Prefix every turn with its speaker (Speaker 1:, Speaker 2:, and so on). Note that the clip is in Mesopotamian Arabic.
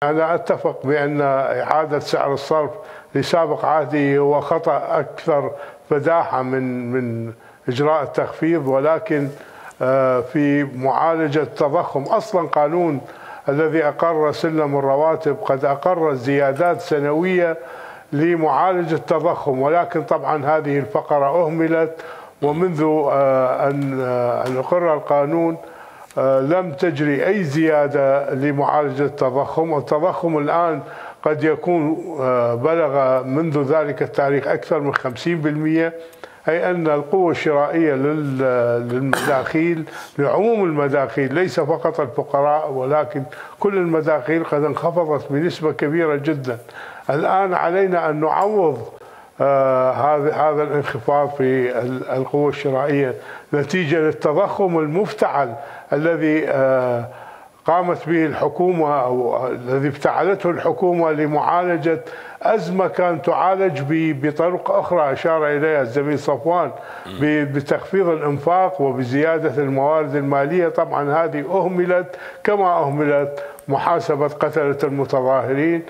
Speaker 1: أنا أتفق بأن إعادة سعر الصرف لسابق عهده هو خطأ أكثر فداحة من إجراء التخفيض، ولكن في معالجة التضخم أصلا قانون الذي أقر سلم الرواتب قد أقر زيادات سنوية لمعالجة التضخم، ولكن طبعا هذه الفقرة أهملت، ومنذ أن أقر القانون لم تجري أي زيادة لمعالجة التضخم. والتضخم الآن قد يكون بلغ منذ ذلك التاريخ أكثر من 50%، أي أن القوة الشرائية للمداخيل لعموم المداخيل ليس فقط الفقراء ولكن كل المداخيل قد انخفضت بنسبة كبيرة جدا. الآن علينا أن نعوض هذا الانخفاض في القوة الشرائية نتيجة للتضخم المفتعل الذي قامت به الحكومة أو الذي افتعلته الحكومة لمعالجة أزمة كانت تعالج بطرق أخرى أشار إليها الزميل صفوان، بتخفيض الإنفاق وبزيادة الموارد المالية. طبعا هذه أهملت كما أهملت محاسبة قتلة المتظاهرين.